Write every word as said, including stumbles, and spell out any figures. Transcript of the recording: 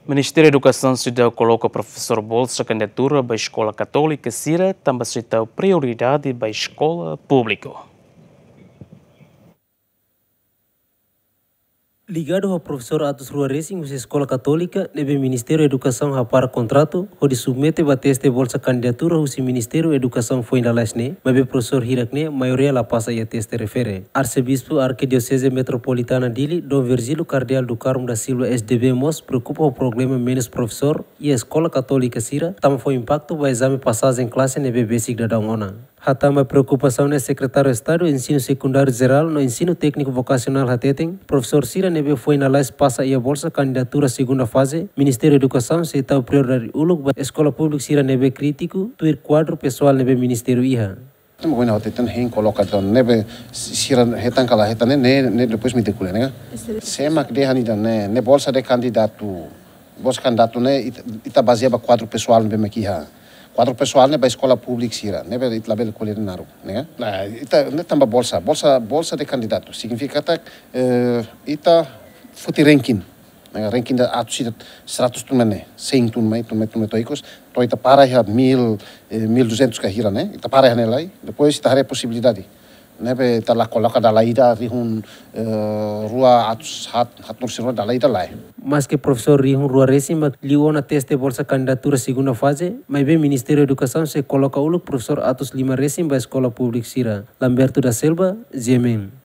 Ministériu Edukasaun seidauk koloka profesór bolsa kandidatura ba eskola katólika sira, tanba sei tau prioridade ba eskola públiku. Ligadu ho profesór atus rua resin husi eskola katólika ne'ebé Ministériu Edukasaun hapara kontratu hodi submete ba teste bolsa kandidatura husi Ministériu Edukasaun foin lalais ne'e, maibé profesór hirak ne'e maioria la pasa iha teste refere. Arsebispu Arkidioseze Metropolitana Dili, Dom Virgílio Kardeál do Carmo da Silva, S D B, mós preokupa ho problema menus profesór iha eskola katólika sira, tanba fó impaktu ba ezame pasajen klase ne'ebé besik daudaun ona. Hatán ba preokupasaun ne'e, Sekretáriu Estadu Ensinu Sekundáriu Jerál no Ensinu Tékniku Vokasionál hateten, profesór sira ne'ebé foin lalais pasa iha bolsa kandidatura segunda faze Ministériu Edukasaun sei tau prioridade uluk ba eskola públiku sira ne'ebé krítiku, tuir kuadru pesoál ne'ebé ministériu iha. Tama goina hotu tan hein koloka tan ne'ebé sira hetan kala hetan ne'e, ne'e, ne'e depois mi dekule ne'e. Sé mak dehan ida ne'e, ne'e bolsa de kandidatu, bolsa kandidatu ne'e ita, ita bazeia ba kuadru pesoál ne'ebé mak iha. Kuadru pesoál ne'e ba eskola públiku sira, ne'ebé ita labele ko'alia naruk, ne'e? Nah, ita ne'e tanba bolsa, bolsa, bolsa de kandidatu. Signifika katak, eh, ita foti ranking. Ne'e, ranking ida atus ida seratus tun ne'e, sein tun mai, tun mai, tun mai to'o ikus, to'o ita para iha mil, eh, mil duzentos ka hira ne'e, ita para iha ne'e lai, depois ita haree posibilidade. Ne'ebé ita la koloka dala ida rihun, eh, rua atus haat, haat nursi rua dala ida lai. Maske profesór rihun rua resin mak liu ona teste bolsa kandidatura segunda faze, maibé Ministériu Edukasaun sei koloka uluk profesór atus lima resin ba eskola públiku sira. Lamberto da Silva, G M N.